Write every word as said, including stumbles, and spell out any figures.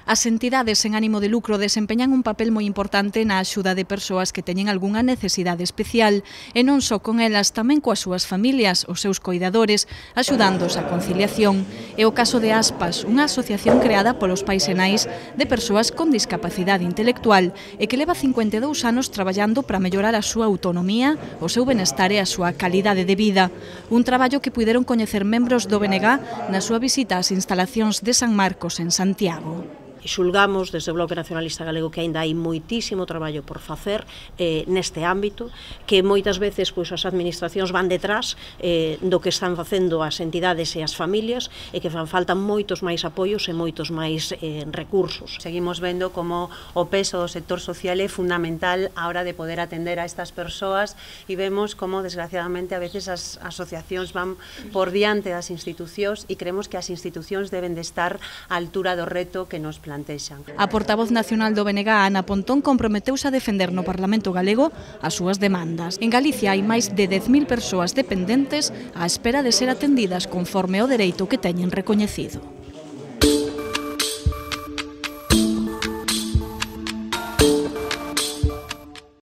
As entidades sen ánimo de lucro desempeñan un papel moi importante na axuda de persoas que teñen algunha necesidade especial e non só con elas, tamén coas súas familias, os seus coidadores, axudándoos á conciliación. É o caso de Aspas, unha asociación creada polos pais e nais de persoas con discapacidade intelectual e que leva cincuenta e dous anos traballando para mellorar a súa autonomía, o seu benestar e a súa calidade de vida. Un traballo que puideron coñecer membros do B N G na súa visita ás instalacións de San Marcos en Santiago. Xulgamos desde o Bloque Nacionalista Galego que aínda hai moitísimo traballo por facer eh, neste ámbito, que moitas veces pois, as administracións van detrás eh, do que están facendo as entidades e as familias e que fan falta moitos máis apoios e moitos máis eh, recursos. Seguimos vendo como o peso do sector social é fundamental á hora de poder atender a estas persoas e vemos como desgraciadamente a veces as asociacións van por diante das institucións e creemos que as institucións deben de estar á altura do reto que nos plantexan. A portavoz nacional do B N G, Ana Pontón, comprometeuse a defender no Parlamento galego as súas demandas. En Galicia hai máis de dez mil persoas dependentes á espera de ser atendidas conforme o dereito que teñen recoñecido.